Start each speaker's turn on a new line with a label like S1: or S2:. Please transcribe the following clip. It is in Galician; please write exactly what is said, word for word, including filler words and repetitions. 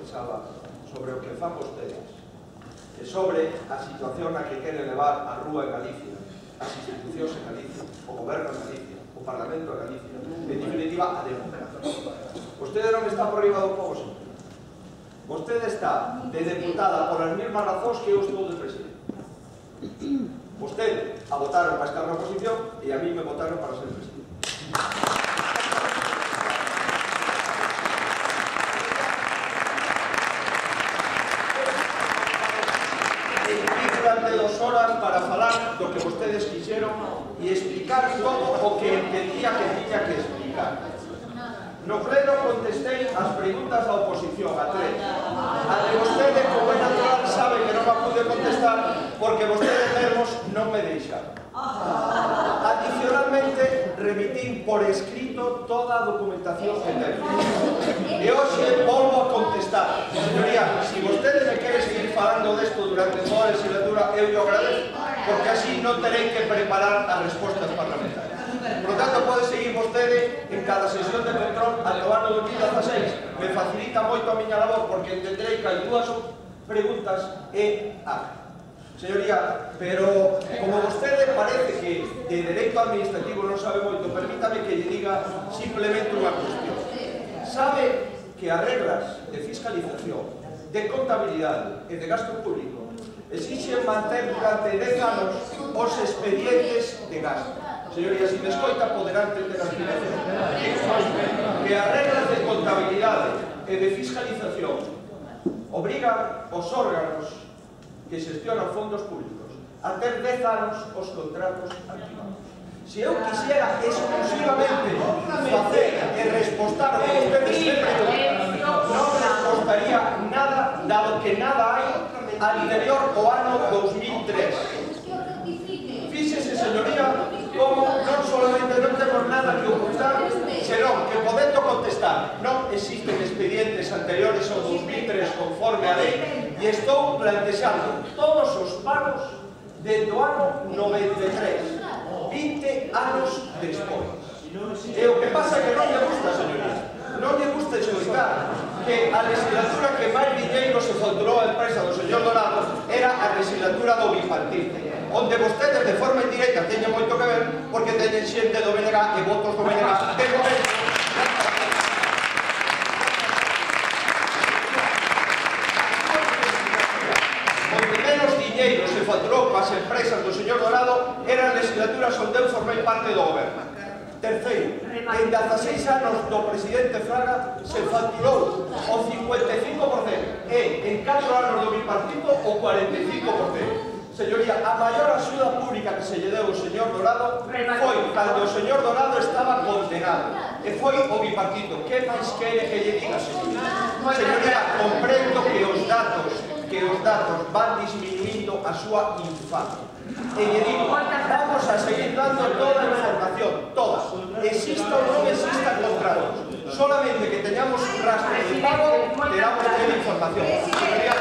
S1: pensaba sobre o que fan vostedes e sobre a situación na que queren levar a rúa en Galicia, as institucións en Galicia, o goberno en Galicia, o Parlamento en Galicia, en definitiva, a democracia. Vostede non está por riba do povo, señor. Vostede está de deputada por as mesmas razóns que eu estou de presidente. Vostede a votaron para estar na oposición e a mí me votaron para ser presidente. Durante dos horas para falar do que vostedes quixeron e explicar todo o que entendía que tiña que explicar. No pleno contestei as preguntas da oposición, a tres. A de vostede, como é natural, sabe que non a pude contestar porque vostedes mesmos non me deixaron. Adicionalmente, remitín por escrito toda a documentación que ten. E hoxe volvo a contestar. Señoría, se vostede me quere seguir falando desto durante toda a legislatura, eu lo agradezo, porque así non terei que preparar as respostas parlamentarias. Por lo tanto, pode seguir vostede en cada sesión de control ata o ano dos mil dieciséis. Me facilita moito a miña labor, porque entenderei que hai dúas preguntas e a. Señoría, pero como vostede parece que de dereito administrativo non sabe moito, permítame que lle diga simplemente unha cuestión. Sabe que as reglas de fiscalización, de contabilidade e de gasto público exixen manter durante dez anos os expedientes de gasto. Señoría, se me escoita poderá entender as direccións. Que as reglas de contabilidade e de fiscalización obrigan os órganos que xestionan fondos públicos a ter dez anos os contratos activados. Se eu quixera exclusivamente facer e respostar o que ustedes sempre non respostaría nada, dado que nada hai anterior ao ano dos mil tres. Fíxese, señoría, como non solamente non temos nada que ocultar, senón que podendo contestar non existen expedientes anteriores ao dos mil tres conforme a lei e estou plantexando todos os pagos desde o ano noventa e tres, vinte anos despois. E o que pasa é que non lle gusta, señoría, non lle gusta escoitar que a legislatura que máis dinheiro se facturou a empresa do señor Dorado era a legislatura do bipartite, onde vostedes de forma indirecta teñen moito que ver porque teñen xente do B N G e votos do B N G de momento. Onde menos dinheiro se facturou coas empresas do señor Dorado eran legislaturas onde eu formei parte do goberno. Terceiro, en dezaseis anos do presidente Fraga se facturou o cincuenta e cinco por cento e en catro anos do bipartito o cuarenta e cinco por cento. Señoría, a maior axuda pública que se lle deu o señor Dorado foi cando o señor Dorado estaba condenado e foi o bipartito. Que máis quere que lle diga, señoría? Señoría, comprendo que os datos que os datos van disminuindo a súa infancia. E lle digo, vamos a seguir dando toda a información, toda. Exista ou non exista contratos. Solamente que teñamos un rastro de pago, teramos que ter información. Señoría,